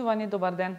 Почитувани, добар ден.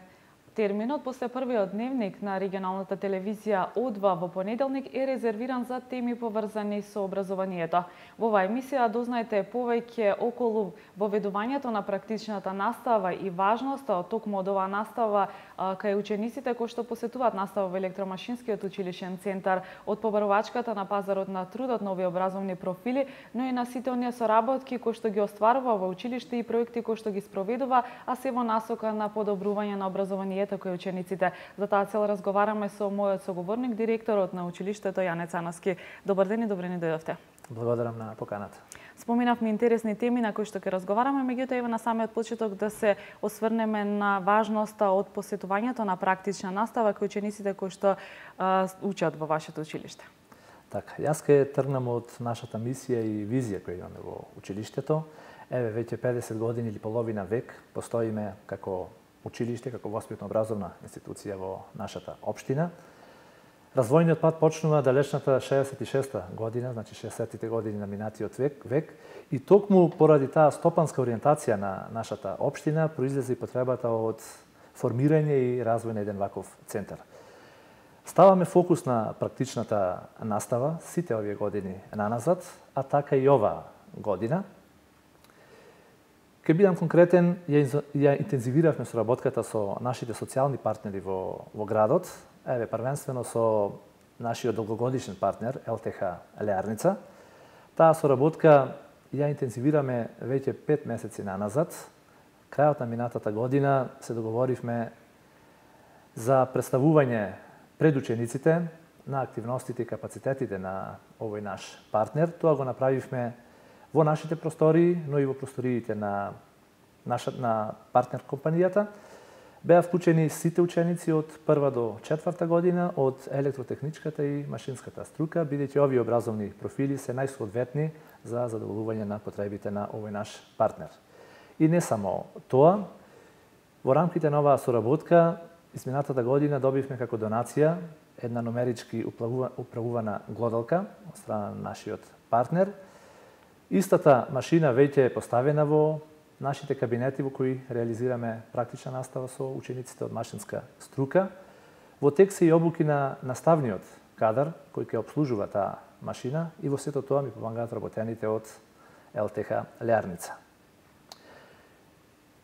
Терминот после првиот дневник на регионалната телевизија О2 во понеделник е резервиран за теми поврзани со образованието. Во оваа емисија дознаете повеќе околу воведувањето на практичната настава и важноста од токму од оваа настава кај учениците кои што посетуваат настава во Електромашинскиот училишен центар, од побарувачката на пазарот на трудот, нови образовни профили, но и на сите оние соработки кои што ги остварува во училиште и проекти кои што ги спроведува, а се во насока на подобрување на образованието кој учениците. За таа цел разговараме со мојот соговорник, директорот на училиштето Јане Цановски. Добар ден и добре ни дојдовте. Благодарам на поканата. Споминавме интересни теми на кои што ќе разговараме, меѓутоа ева на самиот почеток да се осврнеме на важноста од посетувањето на практична настава кај учениците кои што учат во вашето училиште. Така, јас ќе тргнам од нашата мисија и визија која имаме во училиштето. Еве веќе 50 години или половина век постоиме како училиште, како воспитно-образовна институција во нашата општина. Развојниот пат почнува далечната 66-та година, значи 60-тите години на минатиот век, и токму поради таа стопанска ориентација на нашата општина произлезе и потребата од формирање и развој на еден ваков центар. Ставаме фокус на практичната настава сите овие години наназад, а така и оваа година. Ке бидам конкретен, ја интензивиравме соработката со нашите социјални партнери во градот, еве првенствено со нашиот долгогодишен партнер ЛТХ Леарница. Таа соработка ја интензивираме веќе 5 месеци наназад. Крајот на минатата година се договоривме за представување пред учениците на активностите и капацитетите на овој наш партнер. Тоа го направивме во нашите простории, но и во просториите на партнер компанијата. Беа вклучени сите ученици од 1 до 4 година од електротехничката и машинската струка, бидејќи овие образовни профили се најсоодветни за задоволување на потребите на овој наш партнер. И не само тоа, во рамките на оваа соработка, изминатата година добивме како донација една номерички управувана глодалка од страна на нашиот партнер. Истата машина веќе е поставена во нашите кабинети во кои реализираме практична настава со учениците од машинска струка. Во тек се и обуки на наставниот кадар кој ќе обслужува таа машина и во сето тоа ми помагаат работените од ЛТХ Леарница.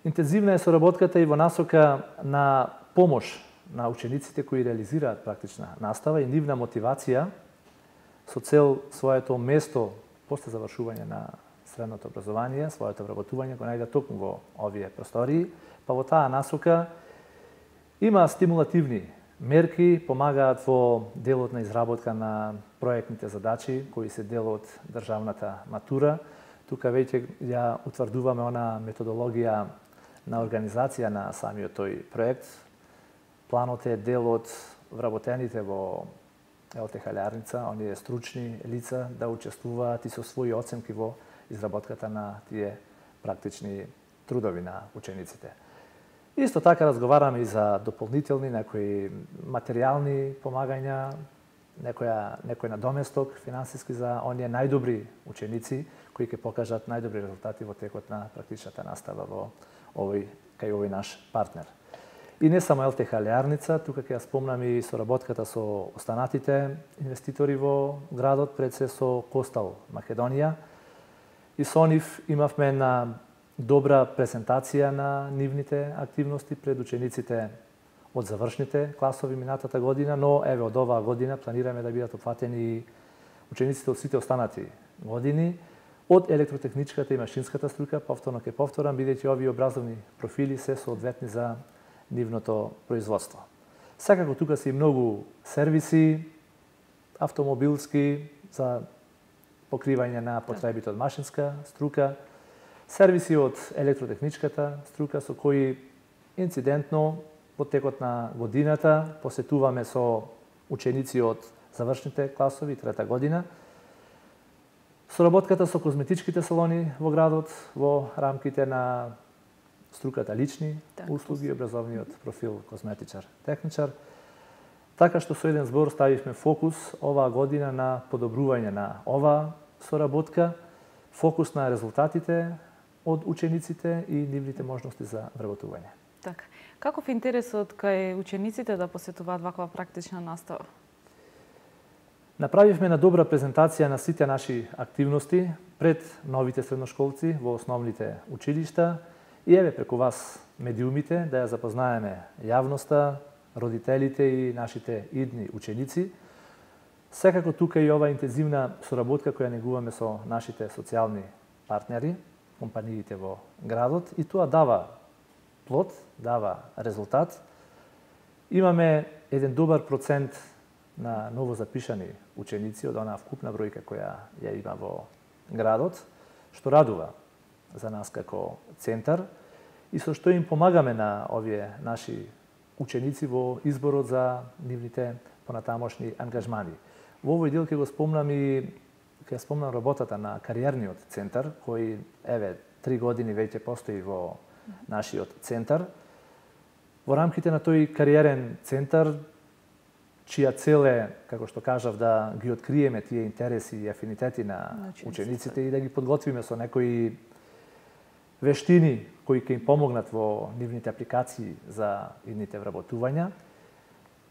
Интензивна е соработката и во насока на помош на учениците кои реализираат практична настава и нивна мотивација со цел своето место после завршување на средното образование, своето вработување го најдат токму во овие простории, па во таа насока има стимулативни мерки, помагаат во делот на изработка на проектните задачи кои се дел од државната матура. Тука веќе ја утврдуваме она методологија на организација на самиот тој проект. Планот е дел од вработените во ЛТХ Леарница, оние стручни лица да учествуваат и со своји оценки во изработката на тие практични трудови на учениците. Исто така разговараме и за дополнителни некои материјални помагања, некој надоместок финансиски за оние најдобри ученици кои ќе покажат најдобри резултати во текот на практичната настава кај овој наш партнер. И не само ЛТХ Леарница, тука ќе ја спомнам и соработката со останатите инвеститори во градот, пред се со Костал Македонија. И со нив имавме една добра презентација на нивните активности пред учениците од завршните класови минатата година, но еве од оваа година планираме да бидат опфатени и учениците од сите останати години, од електротехничката и машинската струка, повторно ќе повторам, бидејќи овие образовни профили се соодветни за нивното производство. Секако тука се и многу сервиси, автомобилски, за покривање на потребите од машинска струка, сервиси од електротехничката струка со кои инцидентно во текот на годината посетуваме со ученици од завршните класови, 3-та година. Соработката со козметичките салони во градот во рамките на струката лични услуги, образовниот профил козметичар, техничар. Така што со еден збор ставивме фокус оваа година на подобрување на оваа соработка, фокус на резултатите од учениците и нивните можности за вработување. Така. Каков е интересот кај учениците да посетуваат ваква практична настава? Направивме на добра презентација на сите наши активности пред новите средношколци во основните училишта и еве преку вас медиумите да ја запознаеме јавноста, родителите и нашите идни ученици. Секако тука и ова интензивна соработка која негуваме со нашите социјални партнери, компаниите во градот, и тоа дава плод, дава резултат. Имаме еден добар процент на новозапишани ученици од онаа вкупна бројка која ја има во градот, што радува за нас како центар и со што им помагаме на овие наши ученици во изборот за нивните понатамошни ангажмани. Во овој дел ќе го спомнам и ќе спомнам работата на кариерниот центар, кој еве 3 години веќе постои во нашиот центар. Во рамките на тој кариерен центар, чија цел е, како што кажав, да ги откриеме тие интереси и афинитети на учениците и да ги подготвиме со некои вештини кои ќе им помогнат во нивните апликации за идните вработувања.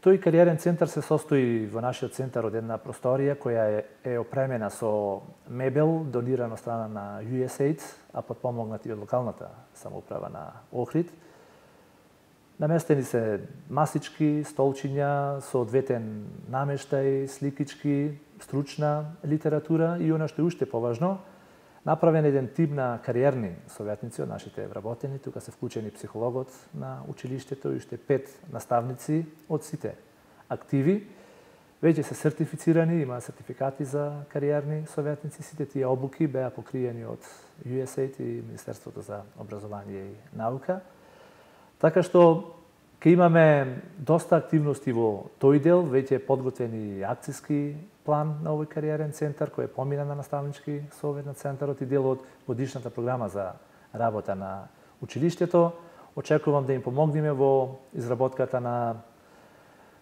Тој кариерен центар се состои во нашиот центар од една просторија која е опремена со мебел, донирана од страна на USAID, а подпомогнати од локалната самоуправа на Охрид. Наместени се масички, столчиња, соодветен намештај, сликички, стручна литература и она што е уште поважно, направен еден тим на кариерни советници од нашите вработени. Тука се вклучени психологот на училиштето и уште 5 наставници од сите активи. Веќе се сертифицирани, има сертификати за кариерни советници. Сите тие обуки беа покриени од USAID и Министерството за образование и наука. Така што ќе имаме доста активности во тој дел, веќе е подготвен и акцијски план на овој кариерен центар кој е помина на наставнички совет на центарот и дел од годишната програма за работа на училиштето. Очекувам да им помогнеме во изработката на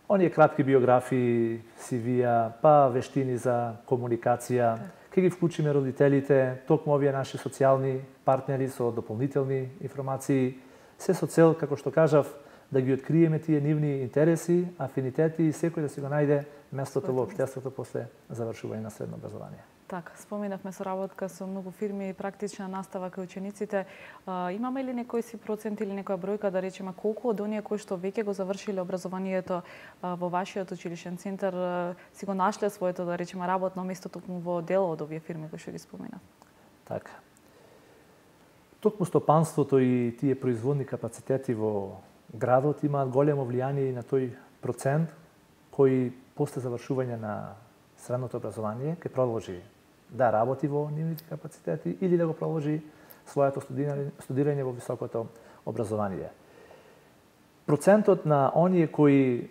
оние кратки биографии, CV-ја, па вештини за комуникација. Ќе ги вклучиме родителите, токму овие наши социјални партнери со дополнителни информации, се со цел, како што кажав, да ги откриеме тие нивни интереси, афинитети и секој да си го најде местото во општеството после завршување на средно образование. Така, споменавме соработка со многу фирми и практична настава кај учениците. Имаме ли некој си процент или некоја бројка, да речеме, колку од оние кои што веќе го завршиле образованието во вашиот училишен центар си го нашле своето, да речеме, работно место токму во дел од овие фирми кои што ги споменав? Така. Токму стопанството и тие производни капацитети во градот имаат големо влијание и на тој процент кој после завршување на средното образование ќе продолжи да работи во нивните капацитети или да го продолжи своето студирање во високото образование. Процентот на оние кои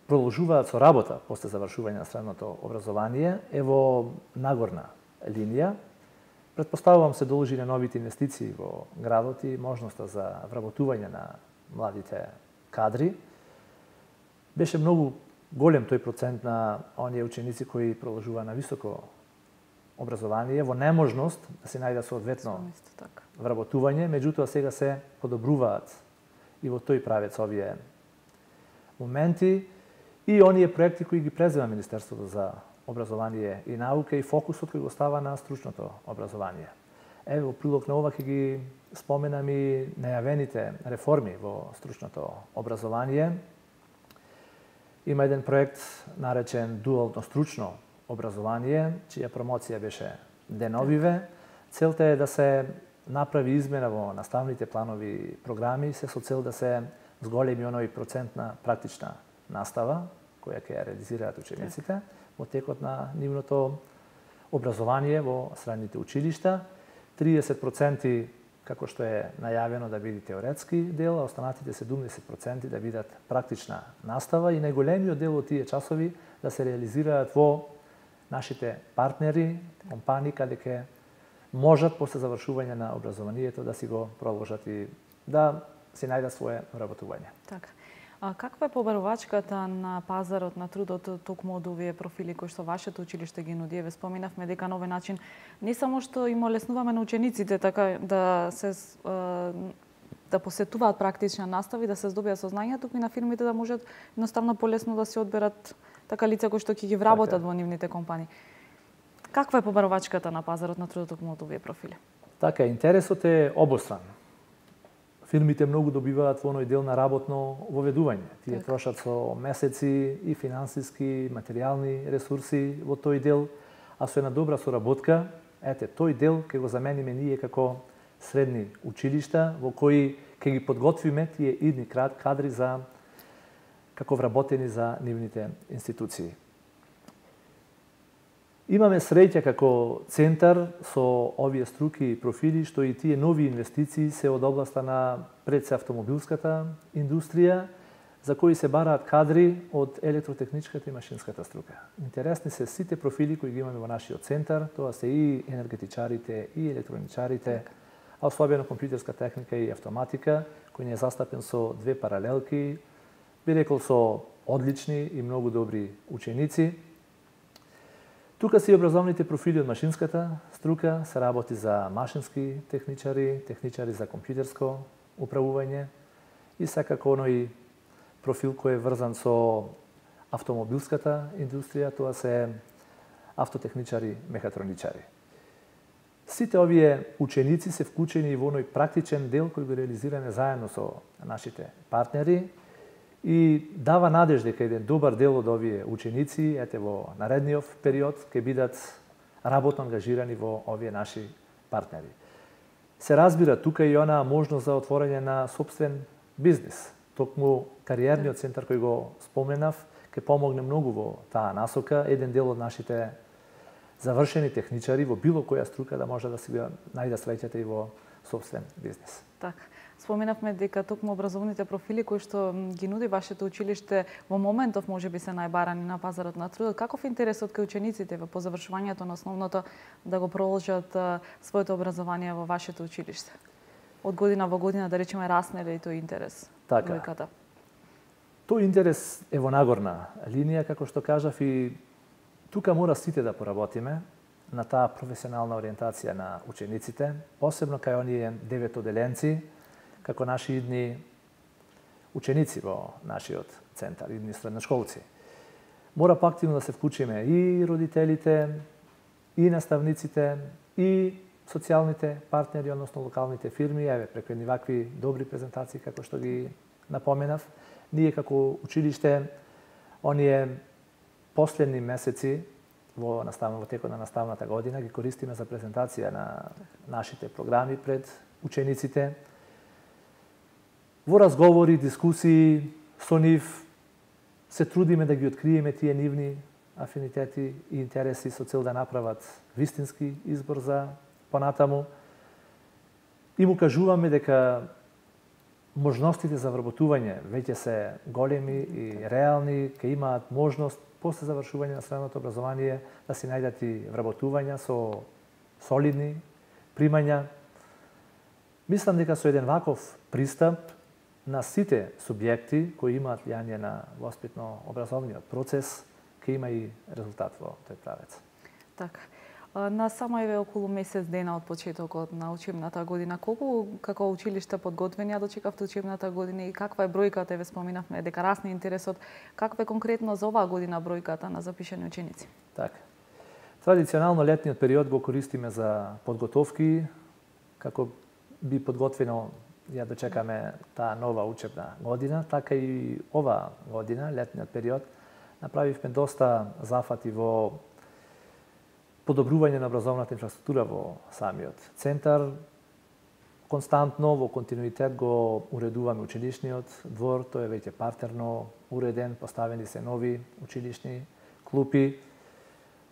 продолжуваат со работа после завршување на средното образование е во нагорна линија. Претпоставувам се должи на новите инвестиции во градот и можноста за вработување на младите кадри. Беше многу голем тој процент на оние ученици кои продолжува на високо образование во неможност да се најде соодветно вработување, меѓутоа сега се подобруваат и во тој правец овие моменти и оние проекти кои ги презема Министерството за образование и наука и фокусот кој го става на стручното образование. Еве, во прилог на ова ќе ги споменам и најавените реформи во стручното образование. Има еден проект наречен дуално стручно образование, чија промоција беше деновиве. Целта е да се направи измена во наставните планови и програми, се со цел да се зголеми оној процент на практична настава, која ќе ја реализираат учениците во текот на нивното образование во средните училишта. 30% како што е најавено да биде теоретски дел, а останатите 70% да бидат практична настава и најголемиот дел од тие часови да се реализираат во нашите партнери, компании, каде ќе можат после завршување на образованието да си го продолжат и да си најдат свое вработување. Така. Каква е побарувачката на пазарот на трудот токму од овие профили кои што вашето училиште ги нуди? Еве споменавме дека на овој начин не само што им олеснуваме на учениците така да се да посетуваат практична настава и да се здобиат сознања, туку и на фирмите да можат едноставно полесно да се одберат така лица кои што ќе ги вработат во нивните компании. Каква е побарувачката на пазарот на трудот токму од овие профили? Така, интересот е обостран. Фирмите многу добиваат во оној дел на работно воведување. Тие трошат со месеци и финансиски, материјални ресурси во тој дел, а со една добра соработка, тој дел ќе го замениме ние како средни училишта во кои ќе ги подготвиме тие идни кадри за како вработени за нивните институции. Имаме среќа како центар со овие струки и профили што и тие нови инвестиции се од областа на пред се автомобилската индустрија, за кои се бараат кадри од електротехничката и машинската струка. Интересни се сите профили кои ги имаме во нашиот центар, тоа се и енергетичарите, и електроничарите, а особено компјутерска техника и автоматика, кој не е застапен со две паралелки, би рекол со одлични и многу добри ученици. Тука се и образовните профили од машинската струка, се работи за машински техничари, техничари за компјутерско управување и секако оној профил кој е врзан со автомобилската индустрија, тоа се автотехничари, мехатроничари. Сите овие ученици се вклучени во оној практичен дел кој го реализираме заедно со нашите партнери и дава надеж дека еден добар дел од овие ученици во наредниот период ќе бидат работно ангажирани во овие наши партнери. Се разбира тука и она можност за отворање на сопствен бизнис. Токму кариерниот центар кој го споменав ќе помогне многу во таа насока. Еден дел од нашите завршени техничари во било која струка да може да си го најдат среќата и во сопствен бизнис. Така. Споменавме дека токму образовните профили кои што ги нуди вашето училиште во моментов можеби се најбарани на пазарот на трудот. Каков интересот кај учениците по завршувањето на основното да го продолжат своето образование во вашето училиште? Од година во година, да речеме, расне ли тој интерес? Така. Бројката? Тој интерес е во нагорна линија, како што кажав, и тука мора сите да поработиме на таа професионална ориентација на учениците, посебно кај оние 9 оделенци, како наши идни ученици во нашиот центар, идни средношколци. Мора поактивно да се вклучиме и родителите, и наставниците, и социјалните партнери, односно локалните фирми, преку едни вакви добри презентации, како што ги напоменав. Ние како училиште, оние последни месеци во текот на наставната година ги користиме за презентација на нашите програми пред учениците. Во разговори, дискусии со нив се трудиме да ги откриеме тие нивни афинитети и интереси со цел да направат вистински избор за понатаму. И му кажуваме дека можностите за вработување веќе се големи и реални, ќе имаат можност после завршување на средното образование да си најдат и вработувања со солидни примања. Мислам дека со еден ваков пристап на сите субјекти кои имаат влијание на воспитно-образовниот процес, ќе има и резултат во тој правец. Така. На само еве околу месец дена од почетокот на учебната година, колку како училиште подготвени ја дочекавте учебната година и каква е бројката, еве споминавме дека расне интересот, каква е конкретно за оваа година бројката на запишани ученици? Така. Традиционално летниот период го користиме за подготовки, како би подготвено ја дочекаме таа нова учебна година, така и ова година, летниот период, направивме доста зафати во подобрување на образовната инфраструктура во самиот центар. Константно, во континуитет го уредуваме училишниот двор, тој е веќе партерно уреден, поставени се нови училишни клупи.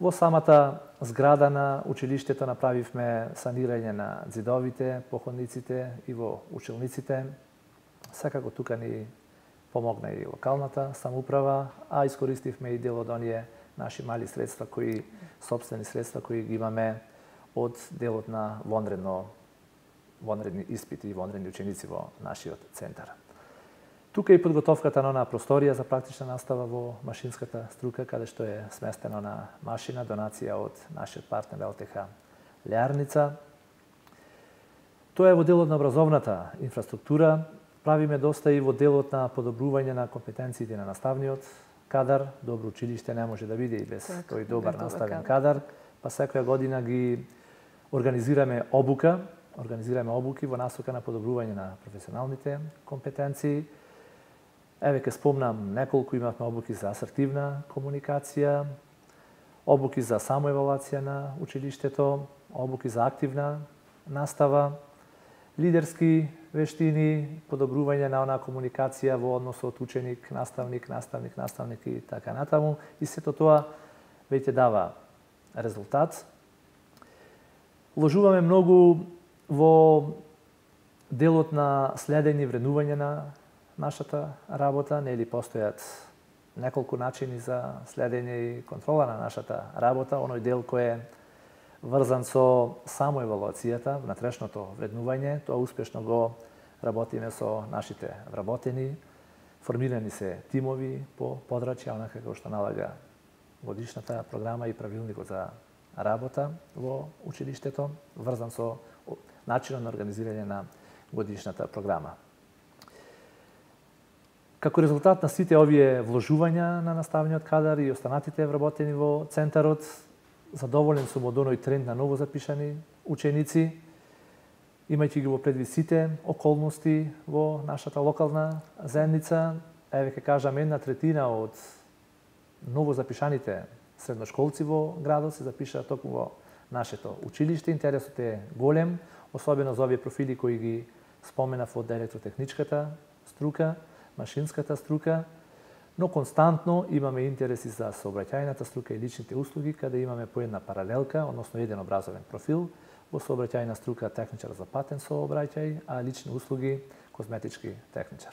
Во самата зграда на училиштето направивме санирање на ѕидовите, походниците и во училниците. Секако тука ни помогна и локалната самоуправа, а искористивме и дел од оние наши мали средства, сопствени средства кои ги имаме од делот на вонредни испити и вонредни ученици во нашиот центар. Тука и подготовката на онаа просторија за практична настава во машинската струка, каде што е сместена на машина, донација од нашиот партнер ЛТХ Лјарница. Тоа е во делот на образовната инфраструктура, правиме доста и во делот на подобрување на компетенциите на наставниот кадар. Добро училиште не може да биде и без тој добар наставен кадар, па секоја година ги организираме обуки во насока на подобрување на професионалните компетенции. Еве ке спомнам неколку, имавме обуки за асертивна комуникација, обуки за самоевалуација на училиштето, обуки за активна настава, лидерски вештини, подобрување на онаа комуникација во односот ученик, наставник и така натаму. И сето тоа веќе дава резултат. Вложуваме многу во делот на следење и вреднување на нашата работа, нели постојат неколку начини за следење и контрола на нашата работа, оној дел кој е врзан со самоевалуацијата, внатрешното вреднување, тоа успешно го работиме со нашите вработени, формирани се тимови по подрачја, онака како што налага годишната програма и правилникот за работа во училиштето, врзан со начинот на организирање на годишната програма. Како резултат на сите овие вложувања на наставниот кадар и останатите вработени во центарот, задоволен сум од оној тренд на ново запишани ученици, имајќи ги во предвид сите околности во нашата локална заедница. Еве ке кажам, 1/3 од ново запишаните средношколци во градот се запишаа токму во нашето училиште. Интересот е голем, особено за овие профили кои ги споменав од електротехничката струка, машинската струка, но константно имаме интереси за сообраќајната струка и личните услуги, каде имаме по една паралелка, односно еден образовен профил, во сообраќајна струка техничар за патен сообраќај, а лични услуги козметички техничар.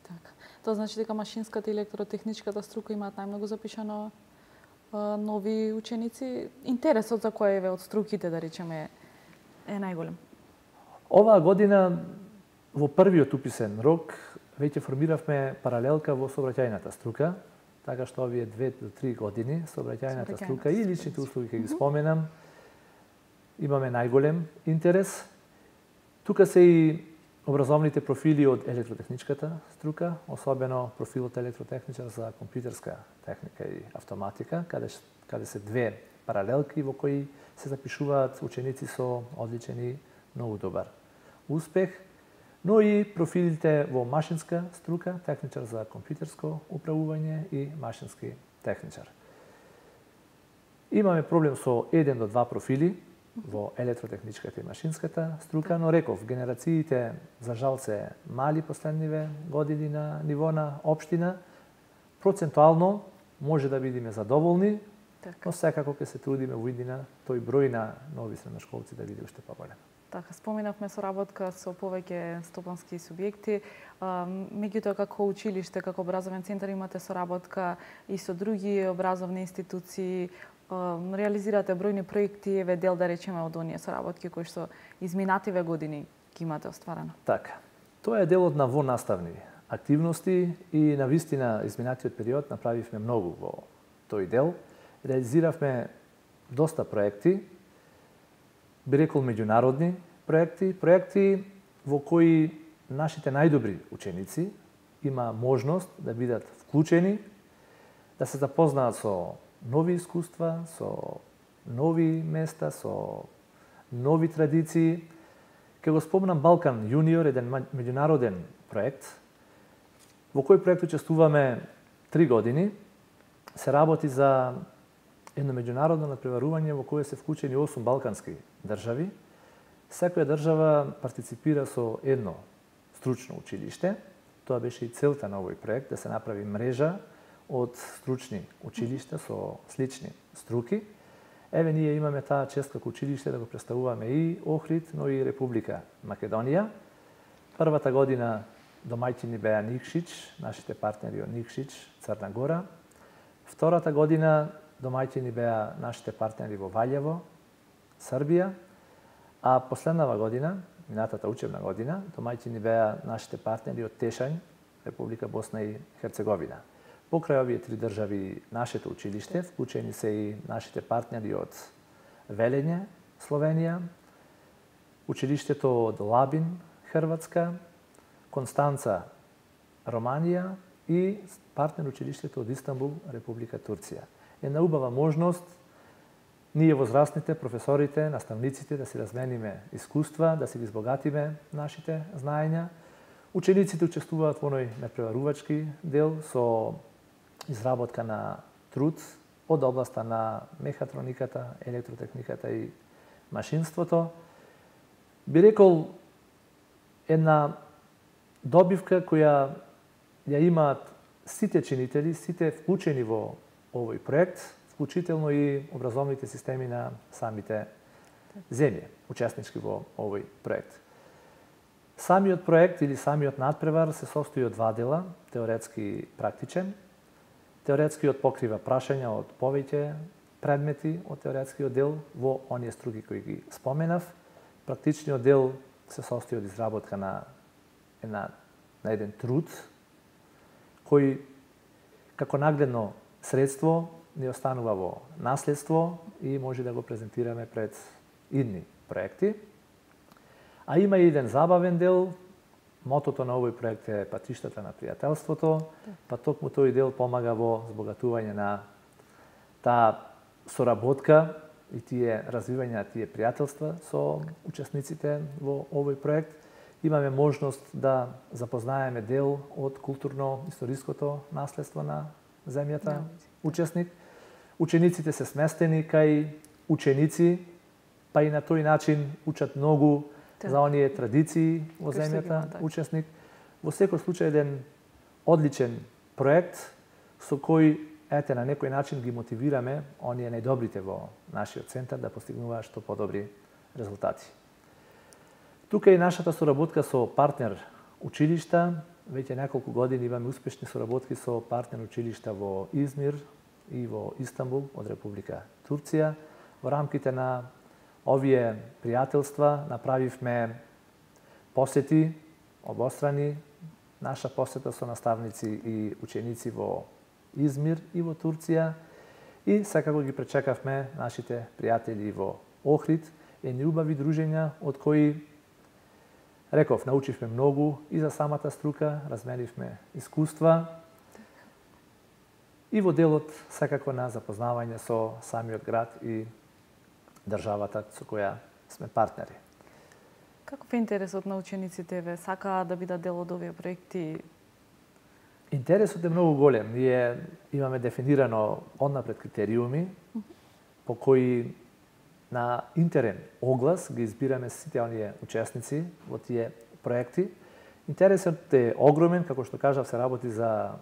Така. Тоа значи дека машинската и електротехничката струка имаат најмногу запишано нови ученици. Интересот за која еве од струките, да речеме, е најголем? Оваа година во првиот уписен рок веќе формиравме паралелка во сообраќајната струка, така што овие 2 до 3 години сообраќајната струка и личните услуги ќе ги споменам, имаме најголем интерес. Тука се и образовните профили од електротехничката струка, особено профилот електротехничар за компјутерска техника и автоматика, каде се 2 паралелки во кои се запишуваат ученици со одличен и многу добар успех, но и профилите во машинска струка, техничар за компјутерско управување и машински техничар. Имаме проблем со 1 до 2 профили во електротехничката и машинската струка, но реков, генерациите за жал се мали последниве години на ниво на општина. Процентуално може да бидеме задоволни, но секако ќе се трудиме во иднина тој број на нови средношколци да биде уште поголем. Така, споменавме соработка со повеќе стопански субјекти. Меѓутоа, како училиште, како образовен центар имате соработка и со други образовни институции, реализирате бројни проекти, еве дел да речеме од оние соработки кои што изминативе години ги имате остварено. Така. Тоа е делот на вонаставни активности и на вистина изминатиот период направивме многу во тој дел. Реализиравме доста проекти, би рекол меѓународни проекти во кои нашите најдобри ученици има можност да бидат вклучени, да се запознаат со нови искуства, со нови места, со нови традиции. Ке го спомнам Балкан Јуниор, еден меѓународен проект, во кој проект учествуваме 3 години. Се работи за едно меѓународно натпреварување во кое се вклучени 8 балкански држави. Секоја држава партиципира со едно стручно училиште. Тоа беше и целта на овој проект, да се направи мрежа од стручни училишта со слични струки. Еве, ние имаме таа чест како училиште да го представуваме и Охрид, но и Република Македонија. Првата година домаќини беа Никшич, нашите партнери од Никшич, Црна Гора. Втората година домаќини беа нашите партнери во Ваљево, Србија, а последнава година, минатата учебна година, домаќини беа нашите партнери од Тешањ, Република Босна и Херцеговина. Покрај овие 3 држави, нашето училиште, вклучени се и нашите партнери од Велење, Словенија, училиштето од Лабин, Хрватска, Констанца, Романија и партнер училиштето од Истанбул, Република Турција. Една убава можност ние возрастните, професорите, наставниците да си размениме искуства, да си ги избогатиме нашите знаења. Учениците учествуваат во оној надпреварувачки дел со изработка на труд од областа на мехатрониката, електротехниката и машинството. Би рекол една добивка која ја имаат сите чинители, сите вклучени во овој проект, вклучително и образовните системи на самите земји, учеснички во овој проект. Самиот проект или самиот надпревар се состои од два дела, теоретски и практичен. Теоретскиот покрива прашања од повеќе предмети од теоретскиот дел во оние струки кои ги споменав. Практичниот дел се состои од изработка на еден труд кој како нагледно средство не останува во наследство и може да го презентираме пред идни проекти. А има и еден забавен дел. Мотото на овој проект е патиштата на пријателството, па токму тој дел помага во збогатување на таа соработка и тие развивање на тие пријателства со учесниците во овој проект. Имаме можност да запознаеме дел од културно-историското наследство на земјата, учесник. Учениците се сместени кај ученици, па и на тој начин учат многу за оние традиции во земјата, учесник. Во секој случај еден одличен проект со кој на некој начин ги мотивираме оние најдобрите во нашиот центар да постигнуваат што подобри резултати. Тука и нашата соработка со партнер училишта. Веќе неколку години имаме успешни соработки со партнер училишта во Измир и во Истанбул од Република Турција. Во рамките на овие пријателства направивме посети обострани, наша посета со наставници и ученици во Измир и во Турција и секако ги пречекавме нашите пријатели во Охрид, едни убави дружења од кои реков, научивме многу и за самата струка, разменивме искуства и во делот секако на запознавање со самиот град и државата со која сме партнери. Каков е интересот на учениците ве? Сакаат да бидат дел од овие проекти? Интересот е многу голем. Ние имаме дефинирано однапред критериуми по кои на интерен оглас ги избираме сите оние учесници во тие проекти. Интересот е огромен, како што кажав, се работи за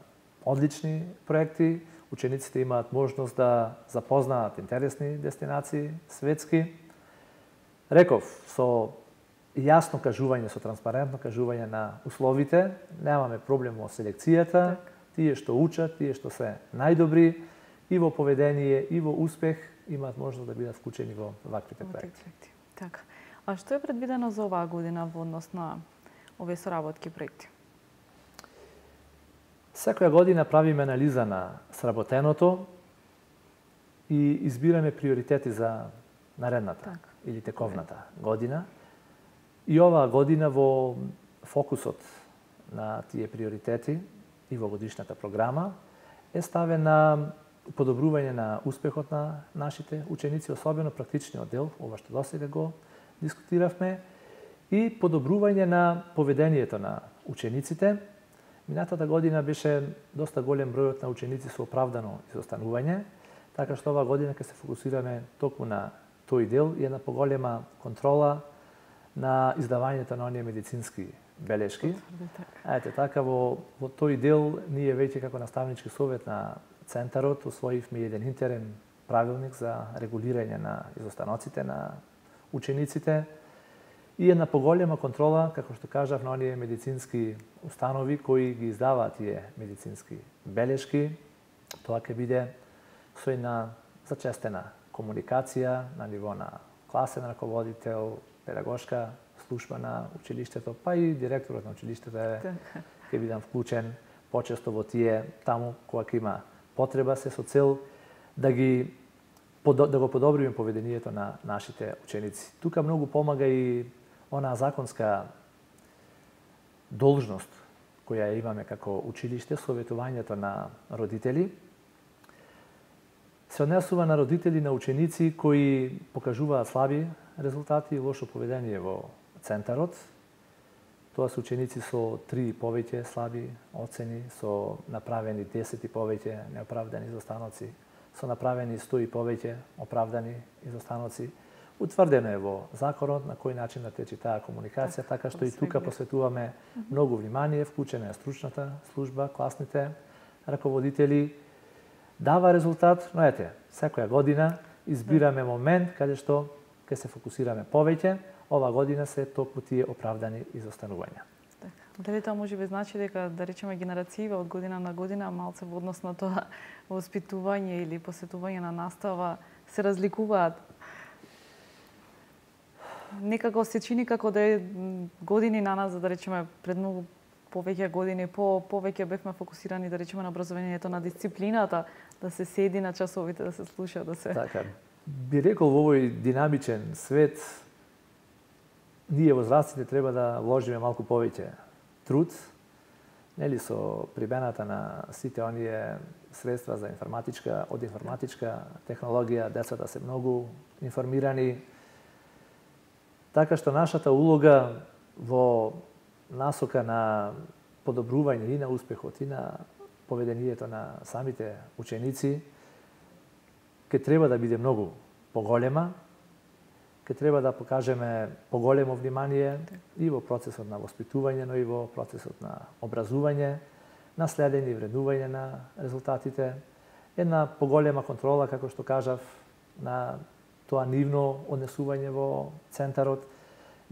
одлични проекти. Учениците имаат можност да запознаат интересни дестинации светски. Реков, со јасно кажување, со транспарентно кажување на условите, немаме проблем во селекцијата, тие што учат, тие што се најдобри и во поведение, и во успех, имаат можност да бидат вклучени во ваквите проекти. Така. А што е предвидено за оваа година во однос на овие соработки проекти? Секоја година правиме анализа на сработеното и избираме приоритети за наредната или тековната година. И оваа година во фокусот на тие приоритети и во годишната програма е ставен на подобрување на успехот на нашите ученици, особено практичниот дел, ова што досега го дискутиравме, и подобрување на поведението на учениците. Минатата година беше доста голем бројот на ученици со оправдано изостанување, така што оваа година ќе се фокусираме токму на тој дел и една поголема контрола на издавањето на оние медицински белешки. Ете така во тој дел ние веќе како наставнички совет на центарот усвоивме еден интерен правилник за регулирање на изостаноците на учениците и една поголема контрола, како што кажав, на оние медицински установи кои ги издаваат тие медицински белешки. Тоа ќе биде со една зачестена комуникација на ниво на класен раководител, педагошка служба на училиштето, па и директорот на училиштето ќе бидам вклучен почесто во тие таму кога ќе има потреба, се со цел да го подобриме поведението на нашите ученици. Тука многу помага и онаа законска должност која имаме како училиште, советувањето на родители, се однесува на родители на ученици кои покажуваат слаби резултати и лошо поведение во центарот. Тоа се ученици со 3 и повеќе слаби оцени, со направени 10 и повеќе неоправдани изостаноци, со направени 100 и повеќе оправдани изостаноци. Утврдено е во законот на кој начин да тече таа комуникација, така што и тука посветуваме многу внимание, вклучена е стручната служба, класните раководители. Дава резултат, но ете, секоја година избираме момент каде што ќе се фокусираме повеќе. Ова година се токму тие оправдани изостанувања. Дали тоа може би значи дека, да речеме, генерацијиве од година на година малце во однос на тоа воспитување или посетување на настава се разликуваат? Некако се чини како да е години на нас, да речеме, пред многу повеќе години, повеќе бевме фокусирани, да речеме, на образованието, на дисциплината, да се седи на часовите, да се слуша, да се... Така, би рекол во овој динамичен свет, ние возрастите треба да вложиме малку повеќе труд, нели, со прибената на сите оние средства за од информатичка технологија, децата се многу информирани, така што нашата улога во насока на подобрување и на успехот и на поведението на самите ученици ќе треба да биде многу поголема, ќе треба да покажеме поголемо внимание и во процесот на воспитување, но и во процесот на образување, на следење и вреднување на резултатите, една поголема контрола, како што кажав, на тоа нивно однесување во центарот.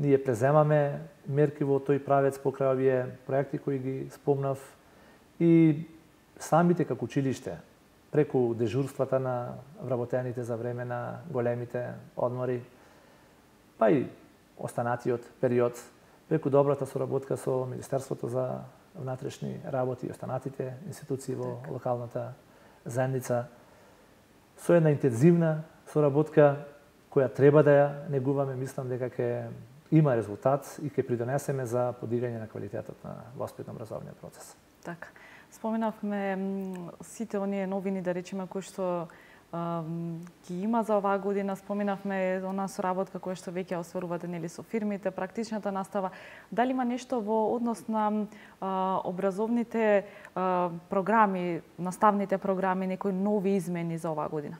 Ние преземаме мерки во тој правец покрај овие проекти кои ги спомнав и самите како училиште, преку дежурствата на вработените за време на големите одмори, па и останатиот период, преку добрата соработка со Министерството за внатрешни работи и останатите институции во локалната заедница, со една интензивна соработка која треба да ја негуваме, мислам дека ќе има резултат и ќе придонесеме за подигање на квалитетот на воспитно-образовниот процес. Така. Споменавме сите оние новини, да речеме, кои што ги има за оваа година. Споменавме онаа соработка која што веќе остварувате, нели, со фирмите, практичната настава. Дали има нешто во однос на образовните програми, наставните програми, некои нови измени за оваа година?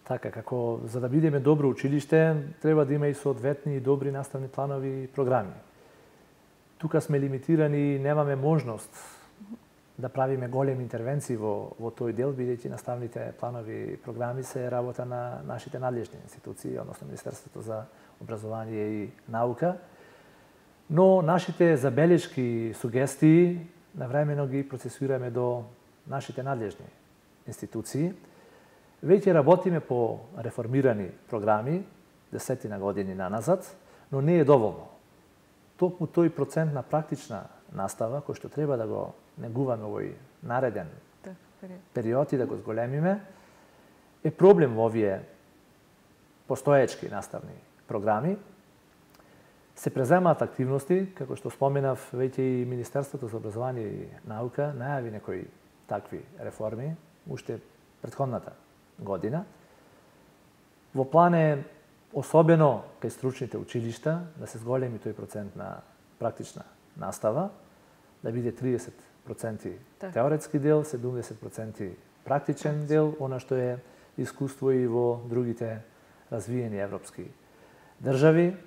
Така, како за да бидеме добро училиште, треба да има и соодветни и добри наставни планови и програми. Тука сме лимитирани и немаме можност да правиме големи интервенции во тој дел, бидејќи наставните планови и програми се работа на нашите надлежни институции, односно Министерството за образование и наука. Но нашите забелешки и сугестии навремено ги процесираме до нашите надлежни институции. Веќе работиме по реформирани програми, 10 години наназад, но не е доволно. Токму тој процент на практична настава, кој што треба да го негуваме овој нареден период и да го зголемиме, е проблем во овие постоечки наставни програми. Се преземаат активности, како што споменав, веќе и Министерството за образование и наука најави некои такви реформи, уште претходната година. Во план е, особено кај стручните училишта, да се зголеми тој процент на практична настава, да биде 30% теоретски дел, 70% практичен дел, она што е искуство и во другите развиени европски држави.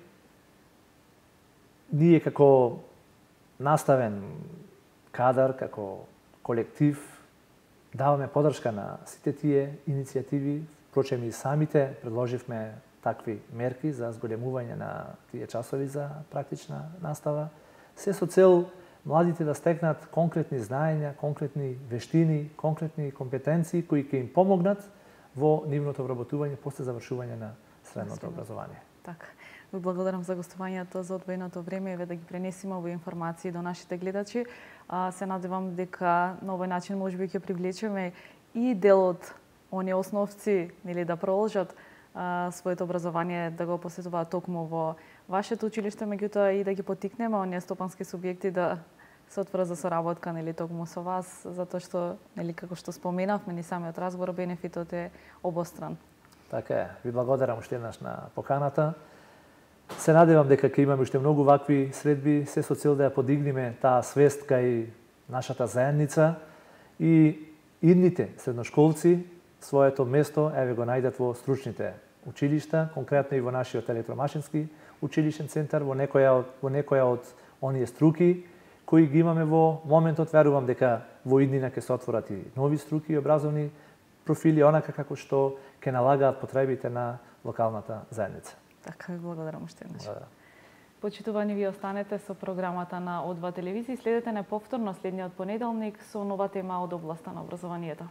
Ние како наставен кадар, како колектив, даваме подршка на сите тие иницијативи, впрочем и самите предложивме такви мерки за зголемување на тие часови за практична настава, се со цел младите да стекнат конкретни знаења, конкретни вештини, конкретни компетенции кои ќе им помогнат во нивното вработување после завршување на средното образование. Така. Ви благодарам за гостувањето, за одвоеното време и да ги пренесиме овие информации до нашите гледачи. Се надевам дека на овој начин можеби ќе привлечеме и дел од оние основци, нели, да продолжат своето образование да го посетуваат токму во вашето училиште, меѓутоа и да ги поттикнеме оние стопански субјекти да се отворат за соработка, нели, токму со вас, затоа што, нели, како што споменавме, ни самиот разговор, бенефитот е обостран. Така е. Ви благодарам уште еднаш на поканата. Се надевам дека ќе имаме уште многу вакви средби, се со цел да ја подигнеме таа свест кај нашата заедница и идните средношколци своето место еве го најдат во стручните училишта, конкретно и во нашиот електромашински училишен центар, во некоја од оние струки кои ги имаме во моментот. Верувам дека во иднина ќе се отворат и нови струки и образовни профили, онака како што ќе налагаат потребите на локалната заедница. Така, ви благодарам уште еднаш. Благодарам. Почитувани, ви останете со програмата на О2 телевизија и следете не повторно следниот понеделник со нова тема од областа на образованието.